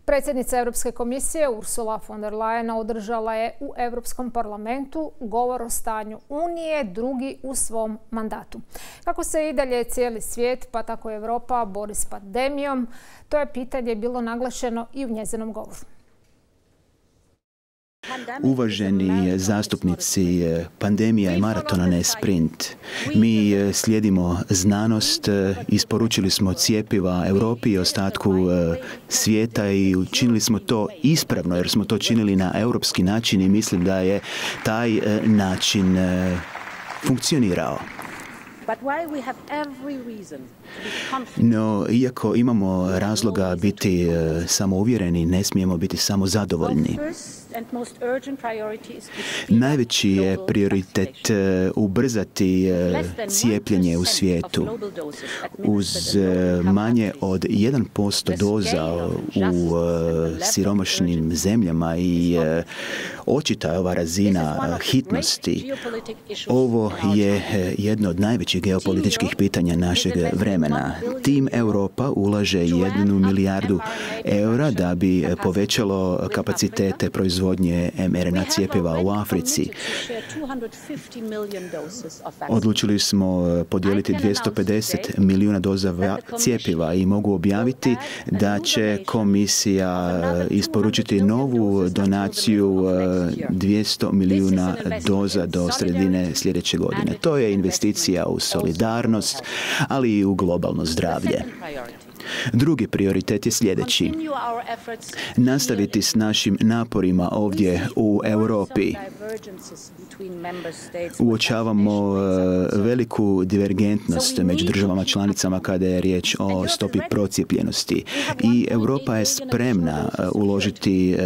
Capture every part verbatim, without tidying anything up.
Predsjednica Europske komisije Ursula von der Leyen održala je u Europskom parlamentu govor o stanju Unije, drugi u svom mandatu. Kako se i dalje cijeli svijet, pa tako i Europa, bori s pandemijom, to je pitanje bilo naglašeno i u njezinom govoru. Uvaženi zastupnici, pandemija je maraton, a ne sprint. Mi slijedimo znanost, isporučili smo cjepiva Europi i ostatku svijeta i učinili smo to ispravno jer smo to činili na europski način i mislim da je taj način funkcionirao. No, iako imamo razloga biti samouvjereni, ne smijemo biti samo zadovoljni. Najveći je prioritet ubrzati cijepljenje u svijetu. Uz manje od jedan posto doza u siromašnim zemljama i očita je ova razina hitnosti. Ovo je jedno od najvećih geopolitičkih pitanja našeg vremena. Tim Europa ulaže jednu milijardu eura da bi povećalo kapacitete proizvodnje em er en a cjepiva u Africi. Odlučili smo podijeliti dvjesto pedeset milijuna doza cjepiva i mogu objaviti da će komisija isporučiti novu donaciju dvjesto milijuna doza do sredine sljedeće godine. To je investicija u solidarnost, ali i u globalno zdravlje. Drugi prioritet je sljedeći. Nastaviti s našim naporima ovdje u Europi. Uočavamo veliku divergentnost među državama članicama kada je riječ o stopi procijepljenosti. I Europa je spremna uložiti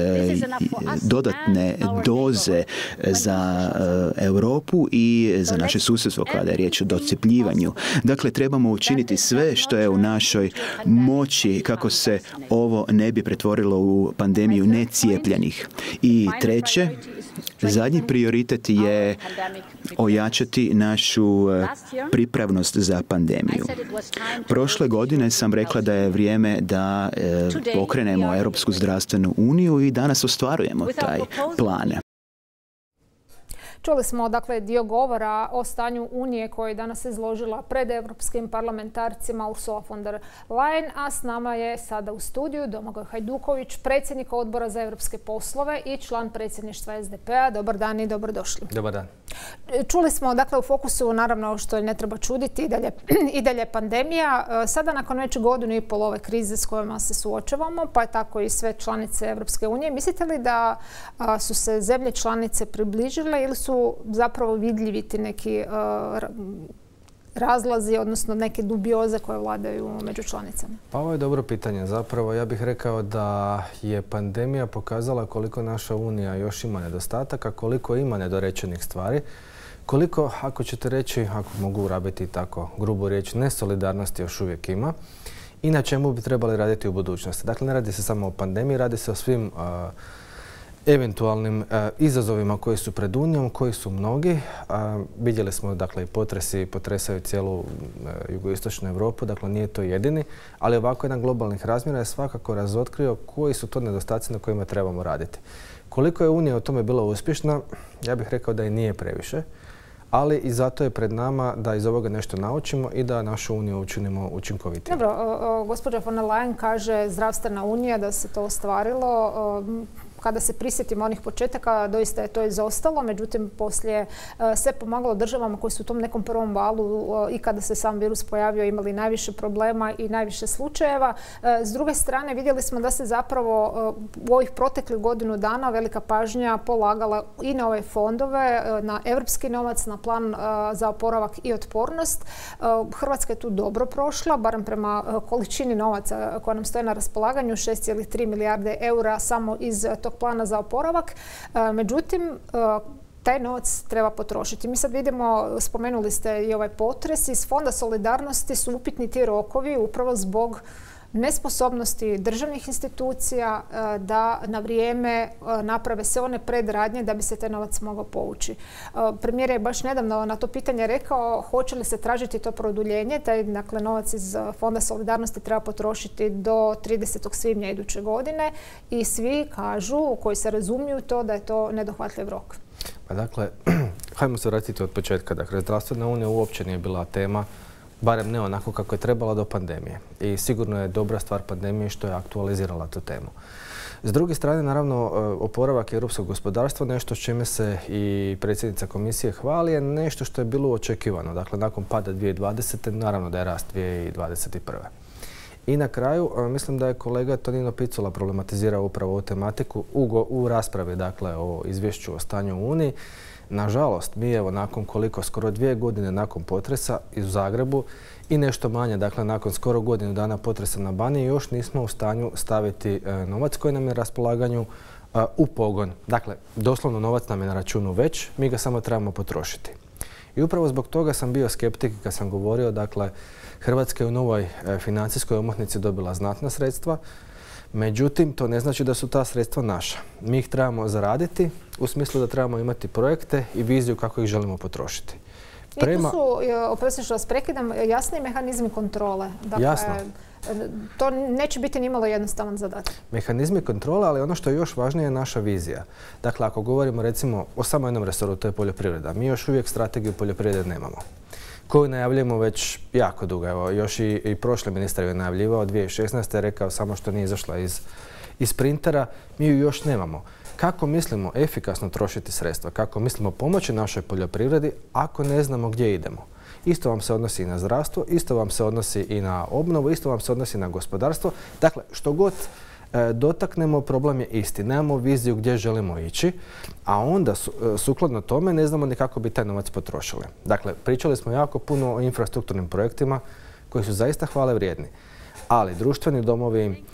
dodatne doze za Europu i za naše susjedstvo kada je riječ o docijepljivanju. Dakle, trebamo učiniti sve što je u našoj moći kako se ovo ne bi pretvorilo u pandemiju necijepljenih. I treće, zadnji prioritet je ojačati našu pripravnost za pandemiju. Prošle godine sam rekla da je vrijeme da pokrenemo Europsku zdravstvenu uniju i danas ostvarujemo taj plan. Čuli smo dakle dio govora o stanju Unije koji je danas izložila pred europskim parlamentarcima Ursula von der Leyen, a s nama je sada u studiju Domagoj Hajduković, predsjednik Odbora za europske poslove i član predsjedništva es de pe a. Dobar dan i dobrodošli. Dobar dan. Čuli smo dakle u fokusu, naravno što ne treba čuditi, i dalje, i dalje pandemija. Sada nakon već godinu i pol ove krize s kojima se suočavamo, pa je tako i sve članice Europske unije, mislite li da su se zemlje članice približile ili su zapravo vidljivi ti neki uh, razlazi, odnosno neke dubioze koje vladaju među članicama? Pa ovo je dobro pitanje. Zapravo ja bih rekao da je pandemija pokazala koliko naša Unija još ima nedostataka, koliko ima nedorečenih stvari, koliko, ako ćete reći, ako mogu rabiti tako grubu riječ, nesolidarnosti još uvijek ima i na čemu bi trebali raditi u budućnosti. Dakle, ne radi se samo o pandemiji, radi se o svim uh, eventualnim e, izazovima koji su pred Unijom, koji su mnogi. A, vidjeli smo, dakle, i potresi potresaju cijelu e, jugoistočnu Europu, dakle nije to jedini, ali ovako jedan globalnih razmjera je svakako razotkrio koji su to nedostaci na kojima trebamo raditi. Koliko je Unija u tome bila uspješna, ja bih rekao da i nije previše, ali i zato je pred nama da iz ovoga nešto naučimo i da našu Uniju učinimo učinkovitijom. Dobro, o, o, gospođa von der Leyen kaže zdravstvena Unija, da se to ostvarilo. O, Kada se prisjetimo onih početaka, doista je to izostalo. Međutim, poslije se pomagalo državama koji su u tom nekom prvom valu i kada se sam virus pojavio imali najviše problema i najviše slučajeva. S druge strane, vidjeli smo da se zapravo u ovih proteklih godinu dana velika pažnja polagala i na ove fondove, na evropski novac, na plan za oporavak i otpornost. Hrvatska je tu dobro prošla, barem prema količini novaca koja nam stoje na raspolaganju, šest zarez tri milijarde eura samo iz tog plana za oporavak. Međutim, taj novac treba potrošiti. Mi sad vidimo, spomenuli ste i ovaj potres, iz Fonda solidarnosti su upitni ti rokovi upravo zbog nesposobnosti državnih institucija da na vrijeme naprave sve one predradnje da bi se taj novac mogao povući. Premijer je baš nedavno na to pitanje rekao hoće li se tražiti to produljenje, taj dakle, novac iz Fonda solidarnosti treba potrošiti do tridesetog svibnja iduće godine i svi kažu, koji se razumiju to, da je to nedohvatljiv rok. Pa dakle, hajmo se vratiti od početka. Dakle, zdravstvena unija uopće nije bila tema, barem ne onako kako je trebala do pandemije. I sigurno je dobra stvar pandemije što je aktualizirala tu temu. S druge strane, naravno, oporavak europskog gospodarstva, nešto s čime se i predsjednica komisije hvali, je nešto što je bilo očekivano. Dakle, nakon pada dvije tisuće dvadesete. naravno da je rast dvije tisuće dvadeset prve. I na kraju, mislim da je kolega Tonino Picula problematizirao upravo ovu tematiku u, u raspravi, dakle, o izvješću o stanju u Uniji. Nažalost, mi evo nakon koliko, skoro dvije godine nakon potresa u Zagrebu i nešto manje, dakle nakon skoro godinu dana potresa na Baniji, još nismo u stanju staviti e, novac koji nam je na raspolaganju e, u pogon. Dakle, doslovno novac nam je na računu već, mi ga samo trebamo potrošiti. I upravo zbog toga sam bio skeptik kad sam govorio, dakle, Hrvatska je u novoj e, financijskoj omotnici dobila znatna sredstva. Međutim, to ne znači da su ta sredstva naša. Mi ih trebamo zaraditi u smislu da trebamo imati projekte i viziju kako ih želimo potrošiti. Prema... I tu su, oprosti što vas prekidam, jasni mehanizmi kontrole. Dakle, Jasno. To neće biti nimalo jednostavan zadatak. Mehanizmi kontrole, ali ono što je još važnije je naša vizija. Dakle, ako govorimo recimo o samo jednom resoru, to je poljoprivreda. Mi još uvijek strategiju poljoprivrede nemamo, koju najavljujemo već jako dugo. Evo, još i, i prošli ministar je najavljivao, dvije tisuće šesnaeste. je rekao samo što nije izašla iz, iz printera. Mi ju još nemamo. Kako mislimo efikasno trošiti sredstva? Kako mislimo pomoći našoj poljoprivredi ako ne znamo gdje idemo? Isto vam se odnosi i na zdravstvo, isto vam se odnosi i na obnovu, isto vam se odnosi na gospodarstvo. Dakle, što god e, dotaknemo, problem je isti. Nemamo viziju gdje želimo ići, a onda su, e, sukladno tome ne znamo ni kako bi taj novac potrošili. Dakle, pričali smo jako puno o infrastrukturnim projektima koji su zaista hvale vrijedni. Ali društveni domovi,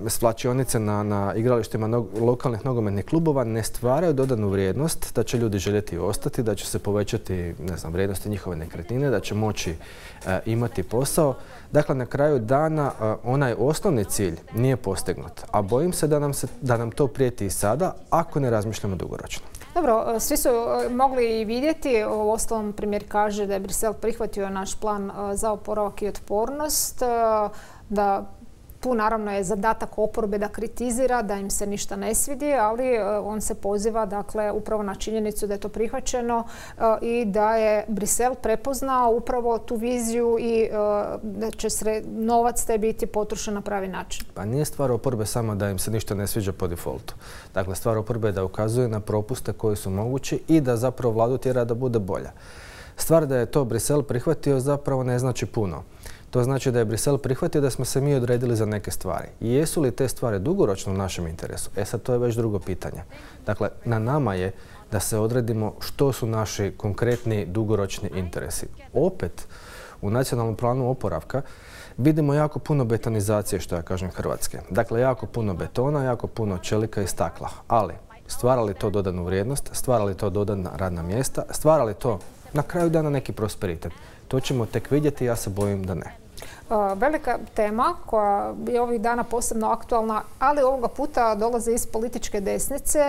svlačionice na, na igralištima no, lokalnih nogometnih klubova ne stvaraju dodanu vrijednost da će ljudi željeti ostati, da će se povećati, ne znam, vrijednosti njihove nekretnine, da će moći uh, imati posao. Dakle, na kraju dana uh, onaj osnovni cilj nije postignut, a bojim se da nam, se, da nam to prijeti i sada ako ne razmišljamo dugoročno. Dobro, svi su mogli i vidjeti, u ostalom premijer kaže da je Brisel prihvatio naš plan za oporavak i otpornost, da tu naravno je zadatak oporbe da kritizira, da im se ništa ne svidi, ali on se poziva dakle, upravo na činjenicu da je to prihvaćeno i da je Brisel prepoznao upravo tu viziju i da će novac taj biti potrošen na pravi način. Pa nije stvar oporbe samo da im se ništa ne sviđa po defaultu. Dakle, stvar oporbe je da ukazuje na propuste koji su mogući i da zapravo vladu tjera da bude bolja. Stvar da je to Brisel prihvatio zapravo ne znači puno. To znači da je Brisel prihvatio da smo se mi odredili za neke stvari. I jesu li te stvari dugoročno u našem interesu? E sad, to je već drugo pitanje. Dakle, na nama je da se odredimo što su naši konkretni dugoročni interesi. Opet, u nacionalnom planu oporavka vidimo jako puno betonizacije, što ja kažem, Hrvatske. Dakle, jako puno betona, jako puno čelika i stakla. Ali, stvara li to dodanu vrijednost, stvara li to dodana radna mjesta, stvara li to na kraju dana neki prosperitet? To ćemo tek vidjeti, ja se bojim da ne. Velika tema koja je ovih dana posebno aktualna, ali ovoga puta dolaze iz političke desnice.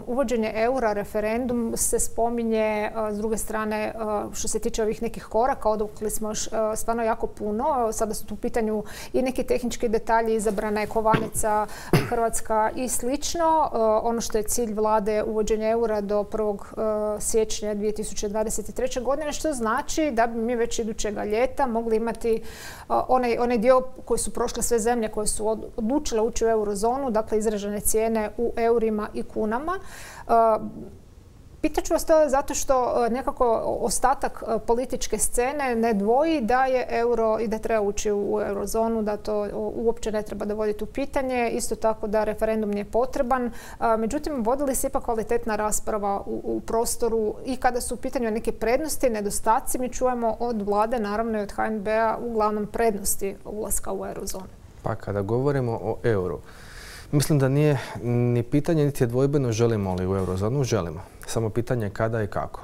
Uvođenje eura, referendum se spominje, s druge strane što se tiče ovih nekih koraka, odvukli smo još stvarno jako puno. Sada su tu u pitanju i neki tehnički detalji, izabrana je kovanica Hrvatska i slično. Ono što je cilj vlade uvođenje eura do prvog siječnja dvije tisuće dvadeset treće. godine, što znači da bi mi već idućega ljeta mogli imati Onaj, onaj dio koji su prošle sve zemlje koje su odlučile ući u eurozonu, dakle izražene cijene u eurima i kunama. Pitaću vas to zato što nekako ostatak političke scene ne dvoji da je euro i da treba ući u eurozonu, da to uopće ne treba dovoditi u pitanje. Isto tako da referendum nije potreban. Međutim, vodili se ipak kvalitetna rasprava u, u prostoru i kada su u pitanju neke prednosti, nedostaci, mi čujemo od vlade, naravno i od H N B-a, uglavnom prednosti ulaska u eurozonu. Pa kada govorimo o euru, mislim da nije ni pitanje niti je dvojbeno želimo li u eurozonu, želimo. Samo pitanje kada i kako.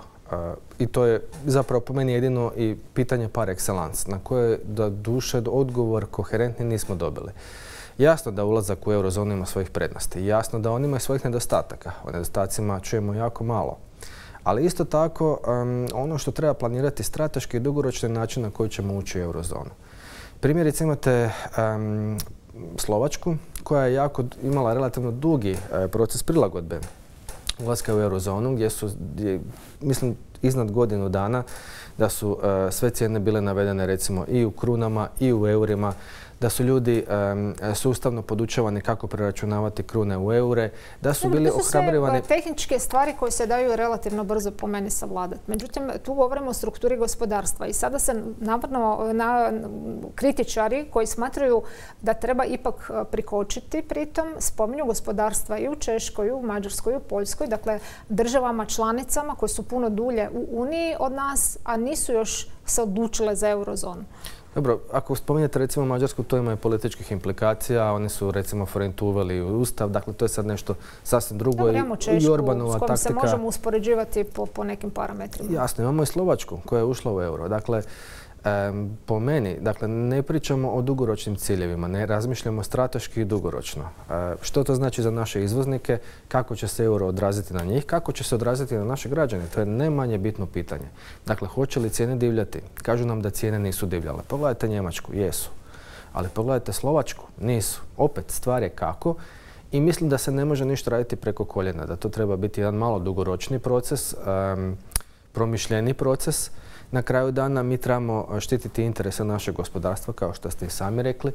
I to je zapravo po meni jedino i pitanje par excellence na koje da duše odgovor koherentni nismo dobili. Jasno da ulazak u eurozonu ima svojih prednosti. Jasno da on ima svojih nedostataka. O nedostacima čujemo jako malo. Ali isto tako um, ono što treba planirati strateški i dugoročni način na koji ćemo ući u eurozonu. Primjerice imate um, Slovačku koja je jako imala relativno dugi uh, proces prilagodbe ulaska u eurozonu gdje su, gdje, mislim, iznad godinu dana da su uh, sve cijene bile navedene recimo i u krunama i u eurima, da su ljudi um, sustavno podučavani kako preračunavati krune u eure, da su bili ohrabrivani... To su sve tehničke stvari koje se daju relativno brzo po meni savladati. Međutim, tu govorimo o strukturi gospodarstva i sada se navrno na kritičari koji smatraju da treba ipak prikočiti pritom spominju gospodarstva i u Češkoj, i u Mađarskoj, i u Poljskoj, dakle državama članicama koje su puno dulje u Uniji od nas, a nisu još se odlučile za eurozonu. Dobro, ako spominjete recimo Mađarsku, to ima i političkih implikacija, oni su recimo forentu uveli u Ustav, dakle to je sad nešto sasvim drugo. Dobro, imamo Češku s kojom se možemo uspoređivati po, po nekim parametrima. Jasno, imamo i Slovačku koja je ušla u euro. Dakle, Um, po meni, dakle, ne pričamo o dugoročnim ciljevima, ne razmišljamo strateški i dugoročno. Uh, što to znači za naše izvoznike, kako će se euro odraziti na njih, kako će se odraziti na naše građane, to je ne manje bitno pitanje. Dakle, hoće li cijene divljati? Kažu nam da cijene nisu divljale. Pogledajte Njemačku, jesu. Ali pogledajte Slovačku, nisu. Opet, stvar je kako i mislim da se ne može ništa raditi preko koljena, da to treba biti jedan malo dugoročni proces, um, promišljeni proces. Na kraju dana mi trebamo štititi interese našeg gospodarstva, kao što ste i sami rekli.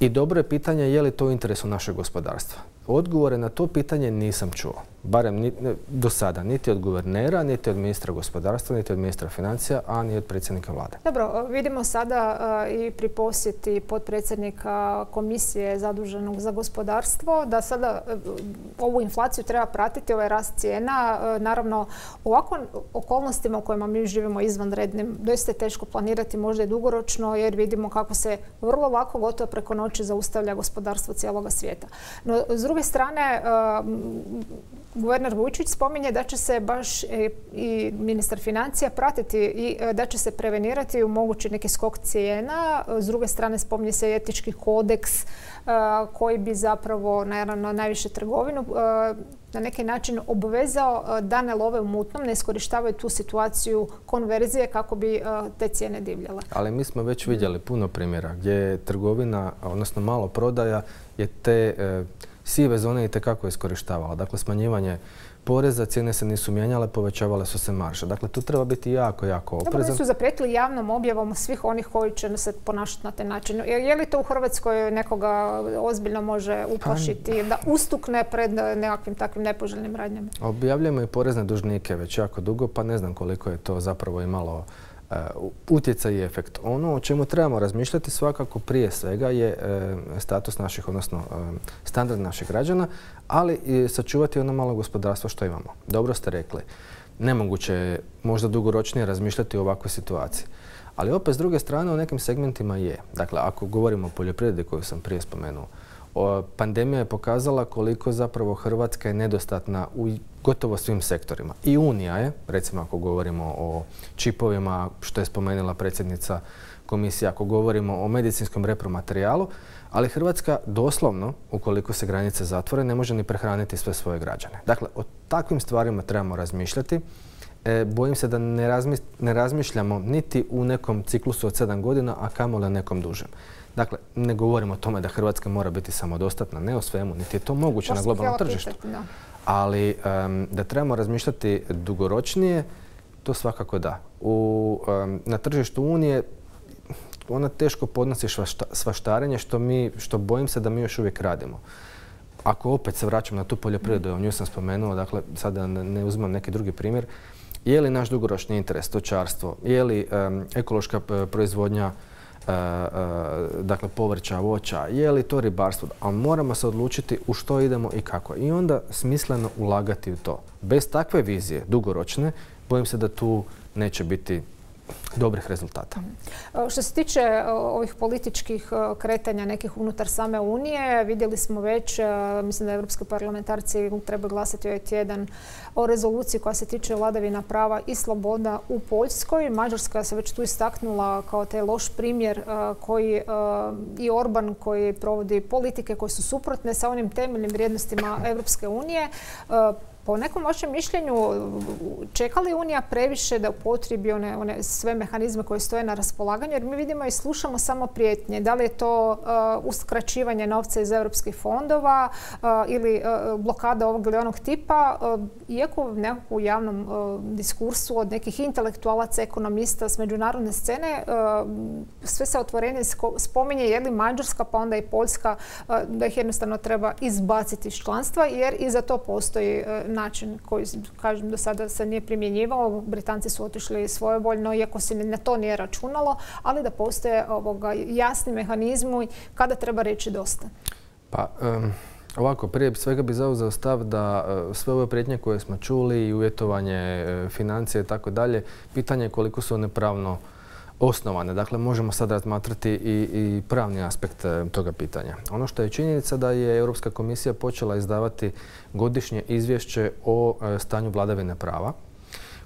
I dobro je pitanje je li to u interesu našeg gospodarstva. Odgovore na to pitanje nisam čuo. Barem ni, do sada. Niti od guvernera, niti od ministra gospodarstva, niti od ministra financija, a ni od predsjednika vlade. Dobro, vidimo sada uh, i pri posjeti potpredsjednika komisije zaduženog za gospodarstvo da sada uh, ovu inflaciju treba pratiti, ovaj rast cijena. Uh, naravno, u ovakvim okolnostima u kojima mi živimo izvanrednim, doista je teško planirati možda i dugoročno jer vidimo kako se vrlo lako gotovo preko noći zaustavlja gospodarstvo cijeloga svijeta. No, s druge strane, uh, guverner Vujčić spominje da će se baš i ministar financija pratiti i da će se prevenirati u mogući neki skok cijena. S druge strane spominje se etički kodeks koji bi zapravo naravno najviše trgovinu na neki način obvezao da ne love u mutnom, ne iskorištavaju tu situaciju konverzije kako bi te cijene divljale. Ali mi smo već vidjeli puno primjera gdje je trgovina, odnosno malo prodaja, je te sive zone i tekako iskorištavala. Dakle, smanjivanje poreza, cijene se nisu mijenjale, povećavale su se marže. Dakle, tu treba biti jako, jako oprezan. Dobro, su zaprijetili javnom objavom svih onih koji će se ponašati na taj način. Je li to u Hrvatskoj nekoga ozbiljno može uplašiti da ustukne pred nekakvim takvim nepoželjnim radnjama? Objavljujemo i porezne dužnike već jako dugo, pa ne znam koliko je to zapravo imalo Uh, utjecaj i efekt. Ono o čemu trebamo razmišljati svakako prije svega je uh, status naših, odnosno uh, standard naših građana, ali i sačuvati ono malo gospodarstvo što imamo. Dobro ste rekli. Nemoguće je možda dugoročnije razmišljati o ovakvoj situaciji. Ali opet s druge strane u nekim segmentima je. Dakle, ako govorimo o poljoprivredi koju sam prije spomenuo, o, pandemija je pokazala koliko zapravo Hrvatska je nedostatna u gotovo svim sektorima. I Unija je, recimo ako govorimo o čipovima, što je spomenula predsjednica komisije, ako govorimo o medicinskom repromaterijalu, ali Hrvatska doslovno, ukoliko se granice zatvore, ne može ni prehraniti sve svoje građane. Dakle, o takvim stvarima trebamo razmišljati. E, bojim se da ne, razmi, ne razmišljamo niti u nekom ciklusu od sedam godina, a kamoli nekom dužem. Dakle, ne govorimo o tome da Hrvatska mora biti samodostatna, ne o svemu, niti je to moguće na globalnom tržištu. Ali um, da trebamo razmišljati dugoročnije, to svakako da. U, um, na tržištu Unije ona teško podnosi švašta, svaštarenje, što, mi, što bojim se da mi još uvijek radimo. Ako opet se vraćam na tu poljoprivredu, o nju sam spomenuo, dakle, sada ne, ne uzmem neki drugi primjer, je li naš dugoročni interes stočarstvo, je li um, ekološka proizvodnja Uh, uh, dakle povrća, voća, je li to ribarstvo, ali moramo se odlučiti u što idemo i kako. I onda smisleno ulagati u to. Bez takve vizije, dugoročne, bojim se da tu neće biti dobrih rezultata. Što se tiče ovih političkih kretanja nekih unutar same Unije, vidjeli smo već, mislim da evropski parlamentarci treba glasati ovaj tjedan o rezoluciji koja se tiče vladavina prava i sloboda u Poljskoj. Mađarska se već tu istaknula kao taj loš primjer koji i Orban koji provodi politike koje su suprotne sa onim temeljnim vrijednostima Evropske unije. Po nekom vašem mišljenju, čeka li Unija previše da upotrijebi one, one sve mehanizme koje stoje na raspolaganju? Jer mi vidimo i slušamo samo prijetnje. Da li je to uh, uskraćivanje novca iz europskih fondova uh, ili uh, blokada ovog ili onog tipa? Uh, iako nekako u javnom uh, diskursu od nekih intelektualaca, ekonomista s međunarodne scene, uh, sve se otvorenje spominje je li Mađarska pa onda i Poljska uh, da ih jednostavno treba izbaciti iz članstva jer i za to postoji uh, način koji, kažem, do sada se nije primjenjivao. Britanci su otišli svojevoljno, iako se na to nije računalo, ali da postoje ovoga jasni mehanizmi kada treba reći dosta. Pa, um, ovako, prije svega bi zauzeo stav da uh, sve ove prijetnje koje smo čuli i uvjetovanje uh, financije i tako dalje, pitanje je koliko su one pravno osnovane. Dakle, možemo sad razmatrati i, i pravni aspekt toga pitanja. Ono što je činjenica da je Europska komisija počela izdavati godišnje izvješće o e, stanju vladavine prava,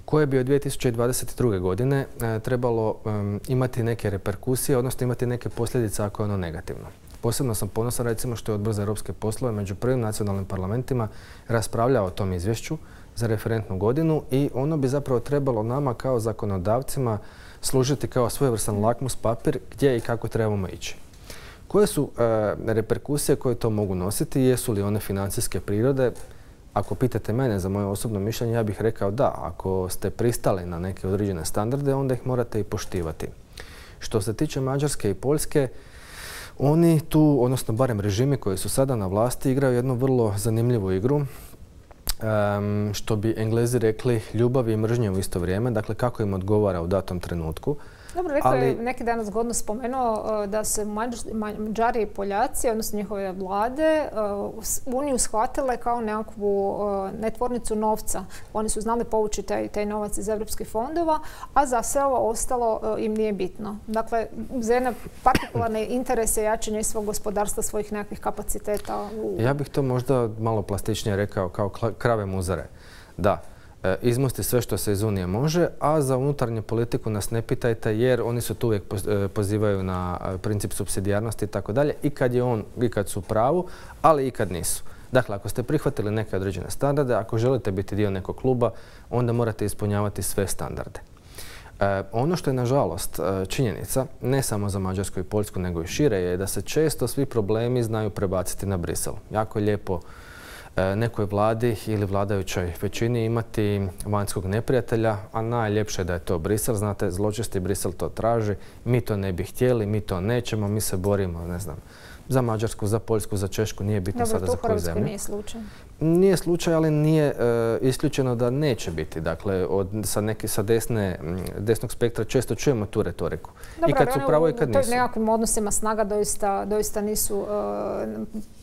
koje bi od dvije tisuće dvadeset druge. godine e, trebalo e, imati neke reperkusije, odnosno imati neke posljedice ako je ono negativno. Posebno sam ponosan recimo što je Odbor za europske poslove među prvim nacionalnim parlamentima raspravljao o tom izvješću za referentnu godinu i ono bi zapravo trebalo nama kao zakonodavcima služiti kao svojevrstan lakmus papir gdje i kako trebamo ići. Koje su e, reperkusije koje to mogu nositi? Jesu li one financijske prirode? Ako pitate mene za moje osobno mišljenje, ja bih rekao da. Ako ste pristali na neke određene standarde, onda ih morate i poštivati. Što se tiče Mađarske i Poljske, oni tu, odnosno barem režimi koji su sada na vlasti, igraju jednu vrlo zanimljivu igru. Um, što bi Englezi rekli ljubav i mržnje u isto vrijeme, dakle kako im odgovara u datom trenutku. Dobro, rekao je neki dan zgodno spomenuo da se Mađari i Poljaci, odnosno njihove vlade, Uniju shvatile kao nekakvu netvornicu novca. Oni su znali povući taj, taj novac iz evropskih fondova, a za sve ovo ostalo im nije bitno. Dakle, za jedne partikularne interese jačanje svog gospodarstva, svojih nekakvih kapaciteta. U... Ja bih to možda malo plastičnije rekao kao krave muzare. Da. Izmusti sve što se iz Unije može, a za unutarnju politiku nas ne pitajte jer oni su tu uvijek pozivaju na princip supsidijarnosti i tako dalje i kad je on, i kad su u pravu, ali i kad nisu. Dakle, ako ste prihvatili neke određene standarde, ako želite biti dio nekog kluba, onda morate ispunjavati sve standarde. E, ono što je nažalost činjenica, ne samo za Mađarsku i Poljsku, nego i šire, je da se često svi problemi znaju prebaciti na Brisel. Jako je lijepo nekoj vladi ili vladajućoj većini imati vanjskog neprijatelja, a najljepše je da je to Brisel. Znate, zločesti Brisel to traži, mi to ne bi htjeli, mi to nećemo, mi se borimo, ne znam, za Mađarsku, za Poljsku, za Češku, nije bitno sada za koju zemlju. Nije slučaj. Nije slučaj, ali nije e, isključeno da neće biti. Dakle, od, sa, neke, sa desne, desnog spektra često čujemo tu retoriku. Dobro, i kad su pravo i kad nisu. U nekakvim odnosima snaga doista, doista nisu uh,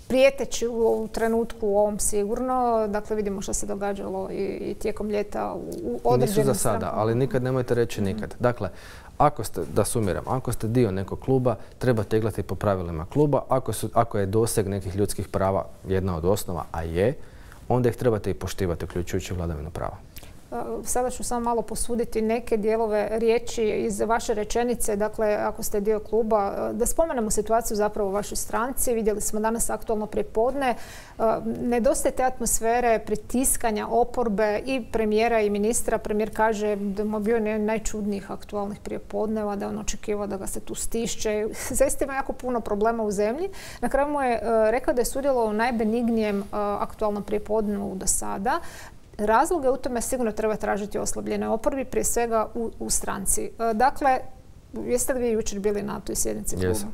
prijeteći u, u trenutku u ovom sigurno. Dakle, vidimo što se događalo i, i tijekom ljeta u određenim Nisu za sada, ali nikad nemojte reći nikad. Dakle, ako ste, da sumiram, ako ste dio nekog kluba, trebate igrati po pravilima kluba. Ako, su, ako je doseg nekih ljudskih prava jedna od osnova, a je, onda ih trebate i poštivati, uključujući vladavinu prava. Sada ću samo malo posuditi neke dijelove riječi iz vaše rečenice, dakle, ako ste dio kluba, da spomenemo situaciju zapravo u vašoj stranci. Vidjeli smo danas aktualno prijepodne. Nedostaje te atmosfere pritiskanja oporbe i premijera i ministra. Premijer kaže da mu je bio jedan najčudnijih aktualnih prijepodneva, da je on očekivao da ga se tu stišće. Zaista ima jako puno problema u zemlji. Na kraju mu je rekao da je sudjelovao u najbenignijem aktualnom prijepodnevu do sada. Razloge u tome sigurno treba tražiti oslabljene oporbi, prije svega u, u stranci. Dakle, jeste li vi jučer bili na toj sjednici kluba? Jesam.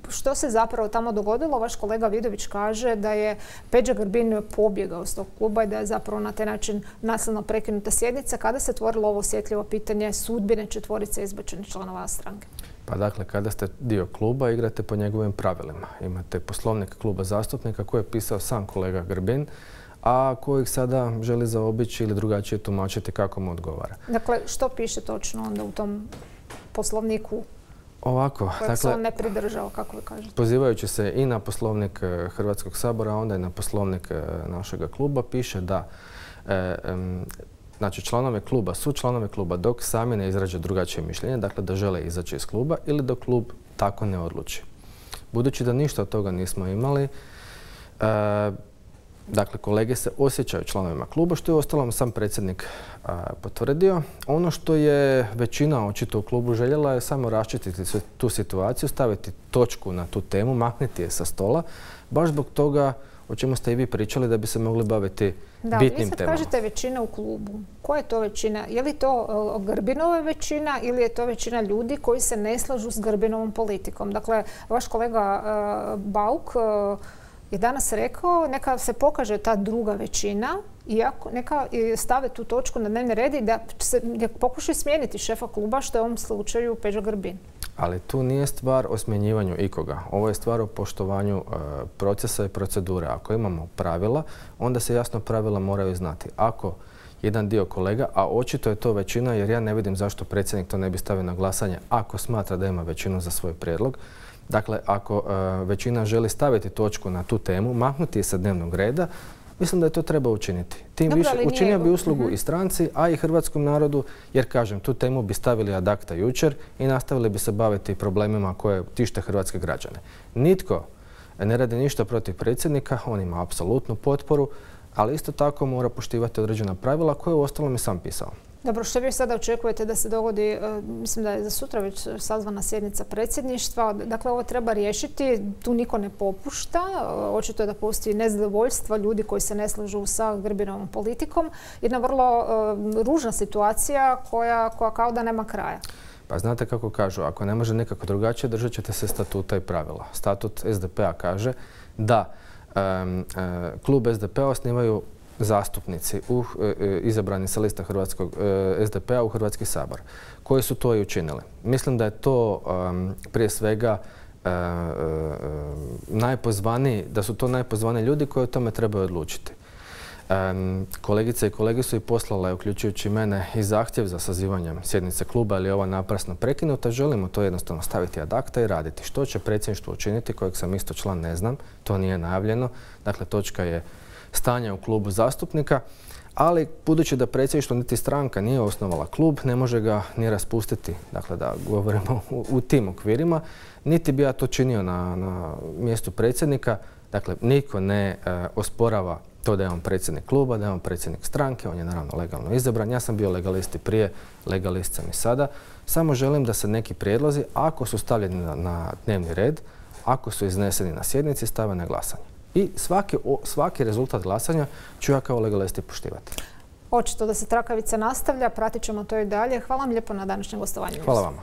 Što se zapravo tamo dogodilo? Vaš kolega Vidović kaže da je Peđa Grbin pobjegao s tog kluba i da je zapravo na taj način nasilno prekinuta sjednica. Kada se otvorilo ovo osjetljivo pitanje sudbine četvorice izbačenih članova stranke? Pa dakle, kada ste dio kluba, igrate po njegovim pravilima. Imate poslovnik kluba zastupnika koji je pisao sam kolega Grbin, a kojih sada želi zaobići ili drugačije tumačiti kako mu odgovara. Dakle, što piše točno onda u tom poslovniku Ovako, kojeg dakle, se on ne pridržao, kako vi kažete? Pozivajući se i na poslovnik Hrvatskog sabora, a onda i na poslovnik našega kluba, piše da e, em, znači članove kluba su članove kluba dok sami ne izraže drugačije mišljenje, dakle da žele izaći iz kluba ili dok klub tako ne odluči. Budući da ništa od toga nismo imali, e, dakle, kolege se osjećaju članovima kluba, što je uostalom sam predsjednik a, potvrdio. Ono što je većina očito u klubu željela je samo raščistiti tu situaciju, staviti točku na tu temu, maknuti je sa stola, baš zbog toga o čemu ste i vi pričali da bi se mogli baviti da, bitnim temama. Da, vi sad temama. kažete većina u klubu. Koja je to većina? Je li to uh, Grbinova većina ili je to većina ljudi koji se ne slažu s Grbinovom politikom? Dakle, vaš kolega uh, Bauk uh, je danas rekao neka se pokaže ta druga većina i neka stave tu točku na dnevni red i da se pokušaju smijeniti šefa kluba, što je u ovom slučaju Peđa Grbin. Ali tu nije stvar o smjenjivanju ikoga. Ovo je stvar o poštovanju e, procesa i procedure. Ako imamo pravila, onda se jasno pravila moraju znati. Ako jedan dio kolega, a očito je to većina, jer ja ne vidim zašto predsjednik to ne bi stavio na glasanje ako smatra da ima većinu za svoj prijedlog. Dakle, ako e, većina želi staviti točku na tu temu, maknuti je sa dnevnog reda, mislim da je to treba učiniti. Tim Dobro, više učinio bi uslugu uh-huh. i stranci, a i hrvatskom narodu, jer kažem, tu temu bi stavili ad acta jučer i nastavili bi se baviti problemima koje tište hrvatske građane. Nitko ne radi ništa protiv predsjednika, on ima apsolutnu potporu, ali isto tako mora poštivati određena pravila koje u ostalom i sam pisao. Dobro, što vi sada očekujete da se dogodi, mislim da je za sutra već sazvana sjednica predsjedništva, dakle ovo treba riješiti, tu niko ne popušta, očito je da postoji nezadovoljstvo ljudi koji se ne slažu sa Grbinovom politikom, jedna vrlo uh, ružna situacija koja, koja kao da nema kraja. Pa znate kako kažu, ako ne može nekako drugačije, držat ćete se statuta i pravila. Statut es de pe-a kaže da um, uh, klub es de pe-a osnivaju zastupnici u, e, izabrani sa lista Hrvatskog e, es de pe-a u Hrvatski sabor, koji su to i učinili. Mislim da je to um, prije svega e, e, najpozvaniji, da su to najpozvaniji ljudi koji o tome trebaju odlučiti. Um, kolegice i kolege su i poslale, uključujući mene, i zahtjev za sazivanjem sjednice kluba, ali je ova naprasno prekinuta. Želimo to jednostavno staviti ad acta i raditi. Što će predsjedništvo učiniti, kojeg sam isto član, ne znam, to nije najavljeno. Dakle, točka je stanje u klubu zastupnika, ali budući da predsjedništvo niti stranka nije osnovala klub, ne može ga ni raspustiti, dakle da govorimo u, u tim okvirima, niti bi ja to činio na, na mjestu predsjednika. Dakle, niko ne e, osporava to da je on predsjednik kluba, da je on predsjednik stranke, on je naravno legalno izabran. Ja sam bio legalist i prije, legalist sam i sada. Samo želim da se neki prijedlozi, ako su stavljeni na, na dnevni red, ako su izneseni na sjednici, stave na glasanje. I svaki, svaki rezultat glasanja ću ja kao legalist poštivati. Očito da se trakavica nastavlja, pratit ćemo to i dalje. Hvala vam lijepo na današnjem gostovanju. Hvala vama.